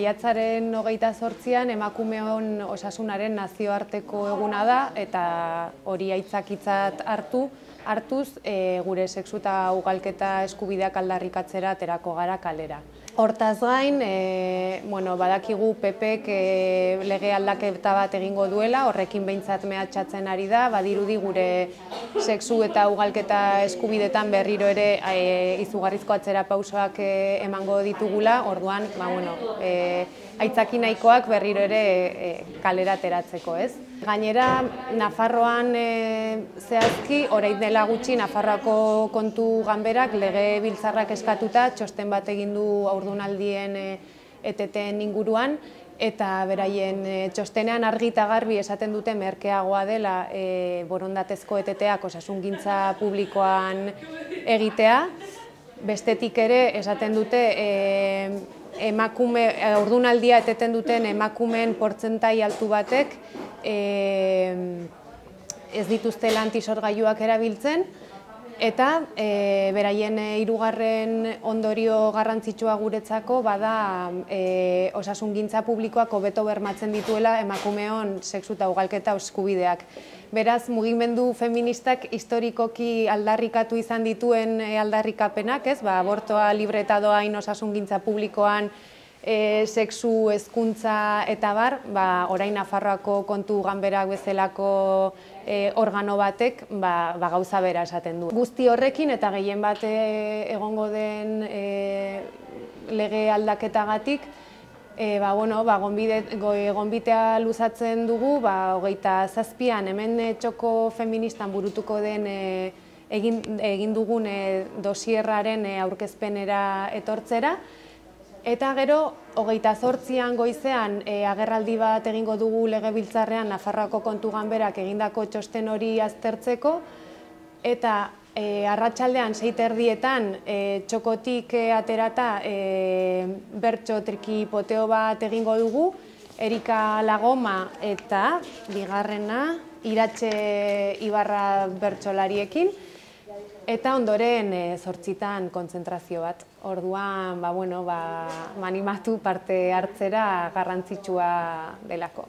Maiatzaren 28an emakumeon osasunaren nazioarteko eguna da eta hori aitzakitzat hartuz gure sexu eta ugalketa eskubideak aldarrikatzera aterako gara kalera. Hortaz gain, badakigu PPk lege aldaketa bat egingo duela, horrekin behintzat mehatxatzen ari da, badirudi gure sexu eta ugalketa eskubidetan berriro ere izugarrizko atzera pausoak emango ditugula, orduan, aitzaki nahikoak berriro ere kalera ateratzeko, ez? Gainera, Nafarroan zehazki, orain dela gutxi Nafarroako kontu ganberak legebiltzarrak eskatuta txosten bat egin du haurdunaldien eteten inguruan, eta beraien txostenean argi eta garbi esaten dute merkeagoa dela borondatezko eteteak osasungintza publikoan egitea. Bestetik ere esaten dute haurdunaldia eteten duten emakumeen portzentai altu batek ez dituztela antisorgailuak erabiltzen, eta beraien hirugarren ondorio garrantzitsua guretzako bada osasungintza publikoak hobeto bermatzen dituela emakumeon sexu eta ugalketa eskubideak. Beraz, mugimendu feministak historikoki aldarrikatu izan dituen aldarrikapenak, abortoa libre eta doain osasungintza publikoan, sexu, hezkuntza eta bar, orain Nafarroako kontu ganberak bezalako organo batek gauza bera esaten du. Guzti horrekin eta gehien bat egongo den lege aldaketagatik, gonbitea luzatzen dugu, 27an hemen txoko feministan burutuko den egin dugun dosierraren aurkezpenera etortzera, eta gero 28an goizean agerraldi bat egingo dugu legebiltzarrean Nafarroako kontu ganberak egindako txosten hori aztertzeko, eta arratsaldean 6:30 txokotik aterata bertso trikipoteo bat egingo dugu, Erika Lagoma eta bigarrena Iratxe Ibarra bertsolariekin, eta ondoren 8:00 kontzentrazio bat. Orduan, animatu parte hartzera garrantzitsua delako.